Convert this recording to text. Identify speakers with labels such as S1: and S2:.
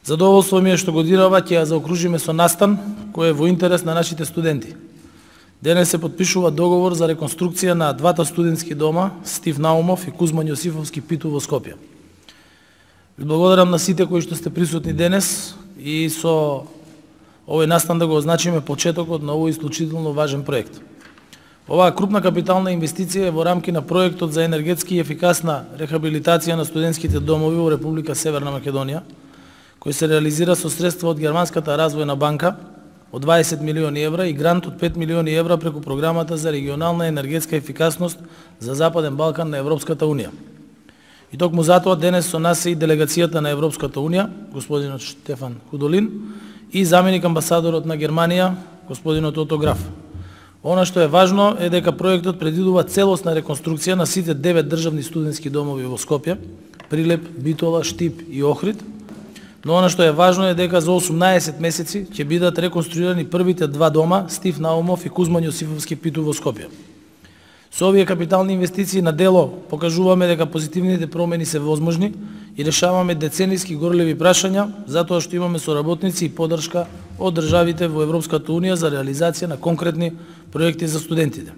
S1: Задоволство ми е што годинава ќе ја заокружиме со настан кој е во интерес на нашите студенти. Денес се подпишува договор за реконструкција на двата студентски дома Стив Наумов и Кузман Јосифовски Питу во Скопје. Ви благодарам на сите кои што сте присутни денес и со овој настан да го означиме почетокот на овој исклучително важен проект. Оваа крупна капитална инвестиција е во рамки на проектот за енергетски и ефикасна рехабилитација на студентските домови во Република Северна Македонија, кој се реализира со средства од Германската развојна банка од 20 милиони евра и грант од 5 милиони евра преку програмата за регионална енергетска ефикасност за Западен Балкан на Европската Унија. И токму затоа денес со нас е и делегацијата на Европската Унија, господинот Штефан Худолин, и заменик амбасадорот на Германија, господинот Ото Граф. Она што е важно е дека проектот предвидува целосна реконструкција на сите 9 државни студентски домови во Скопје, Прилеп, Битола, Штип и Охрид, но она што е важно е дека за 18 месеци ќе бидат реконструирани првите два дома, Стив Наумов и Кузман Јосифовски Питу во Скопје. Со овие капитални инвестиции на дело покажуваме дека позитивните промени се возможни и решаваме деценијски горливи прашања, затоа што имаме соработници и поддршка од државите во Европската Унија за реализација на конкретни проекти за студентите.